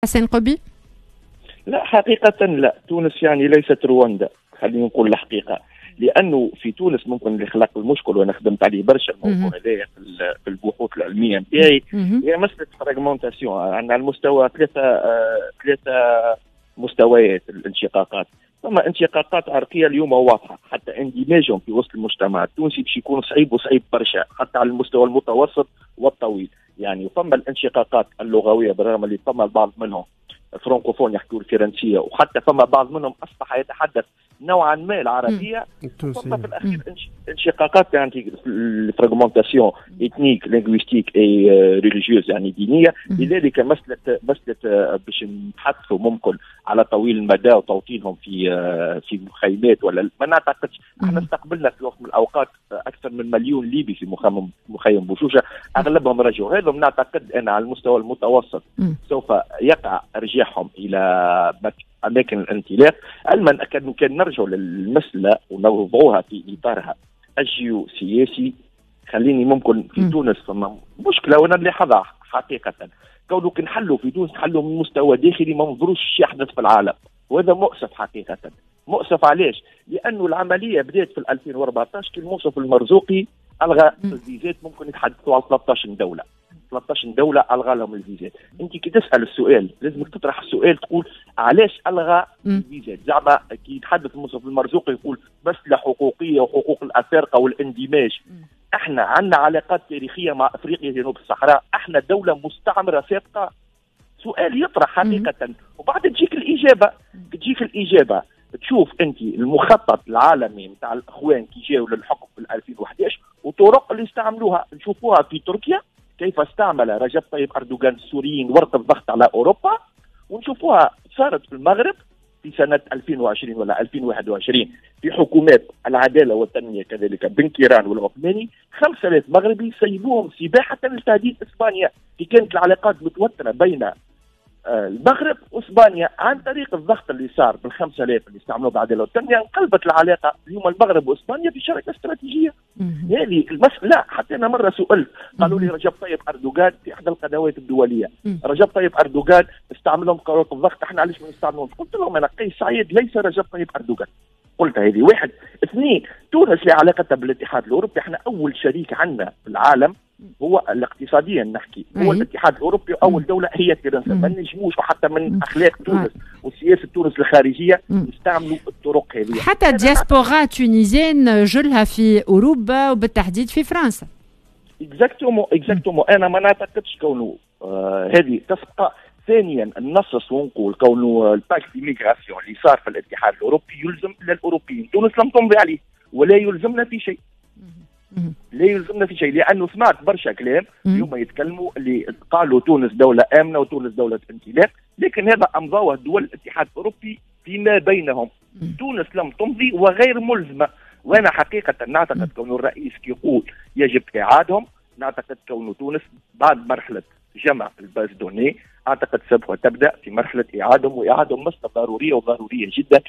حسين قبي؟ لا، حقيقة لا، تونس يعني ليست رواندا، خلينا نقول الحقيقة، لانه في تونس ممكن اللي خلق المشكل، وانا خدمت عليه برشا الموضوع هذايا في البحوث العلمية نتاعي، هي مسالة fragmentation. عندنا على المستوى ثلاثة مستويات الانشقاقات. ثم انشقاقات عرقيه اليوم واضحه، حتى اندماجهم في وسط المجتمع التونسي باش يكون صعيب وصعيب برشا حتى على المستوى المتوسط والطويل. يعني فما الانشقاقات اللغويه، بالرغم اللي فما البعض منهم francophones يحكوا الفرنسيه، وحتى فما بعض منهم اصبح يتحدث نوعا ما العربيه. ثم في الاخير انشقاقات، يعني ال fragmentation ethnique، linguistique et religieuse، يعني دينيه. لذلك مساله باش نتحدثوا ممكن على طويل المدى وتوطينهم في مخيمات ولا ما نعتقدش. احنا استقبلنا في وقت من الاوقات اكثر من مليون ليبي في مخيم بوشوشه، اغلبهم رجعوا. هذا نعتقد ان على المستوى المتوسط سوف يقع ارجاعهم الى اماكن الانطلاق، علما كان نرجع للمسالة ونوضعوها في اطارها الجيوسياسي. خليني ممكن في تونس فما مشكلة وانا نلاحظها حقيقه، كونه كي نحلوا في تونس نحلوا من مستوى داخلي، ما ننظروش يحدث في العالم، وهذا مؤسف حقيقه. مؤسف علاش؟ لانه العملية بدات في 2014 كي المنصف المرزوقي الغى الفيزات، ممكن يتحدثوا على 13 دوله، 13 دولة الغى لهم الفيزات. انت كي تسال السؤال لازمك تطرح السؤال، تقول علاش الغى الفيزات؟ زعما كي يتحدث المنصف المرزوقي يقول مسالة حقوقيه وحقوق الافارقة والاندماج. احنا عندنا علاقات تاريخية مع افريقيا جنوب الصحراء، احنا دولة مستعمرة سابقه. سؤال يطرح حقيقه، وبعد تجيك الاجابه، تشوف انت المخطط العالمي نتاع الاخوان كي جاوا للحكم في 2011 وطرق اللي استعملوها، نشوفوها في تركيا كيف استعمل رجب طيب اردوغان السوريين ورقة الضغط على اوروبا، ونشوفوها صارت في المغرب في سنة 2020 ولا 2021 في حكومات العدالة والتنمية، كذلك بن كيران والعثماني، 5000 مغربي سيبوهم سباحة لتهديد إسبانيا في كانت العلاقات متوترة بين المغرب واسبانيا. عن طريق الضغط اللي صار بال 5000 اللي استعملوه بعد التنمية انقلبت العلاقه، اليوم المغرب واسبانيا في شراكة استراتيجيه. هذه المسألة لا، حتى انا مرة سئلت، قالوا لي رجب طيب اردوغان في احدى القنوات الدوليه، رجب طيب اردوغان استعملهم كورقه الضغط، احنا علاش ما نستعملهمش؟ قلت لهم انا قيس سعيد ليس رجب طيب اردوغان. قلت هذه واحد. اثنين، تونس لعلاقتها بالاتحاد الاوروبي، احنا اول شريك عندنا في العالم هو الاقتصاديا نحكي هو الاتحاد الاوروبي، واول دولة هي فرنسا. ما نجموش وحتى من اخلاق تونس وسياسة تونس الخارجية نستعملوا الطرق هذه. حتى ال diaspora tunisienne جلها في اوروبا وبالتحديد في فرنسا. exactement، exactement. انا ما نعتقدش كونه هذه تسبق. ثانيا ننص ونقول كونه ال pacte d'immigration اللي صار في الاتحاد الاوروبي يلزم للاوروبيين، تونس لم تمضي عليه ولا يلزمنا في شيء، لا يلزمنا في شيء، لانه سمعت برشا كلام اليوم يتكلموا اللي قالوا تونس دولة امنه وتونس دولة انطلاق، لكن هذا امضوه دول الاتحاد الاوروبي فيما بينهم. تونس لم تمضي وغير ملزمه. وانا حقيقة نعتقد كون الرئيس يقول يجب اعادهم، نعتقد كون تونس بعد مرحلة جمع ال base de données اعتقد سوف تبدا في مرحلة اعادهم، واعادهم مسالة ضرورية وضرورية جدا.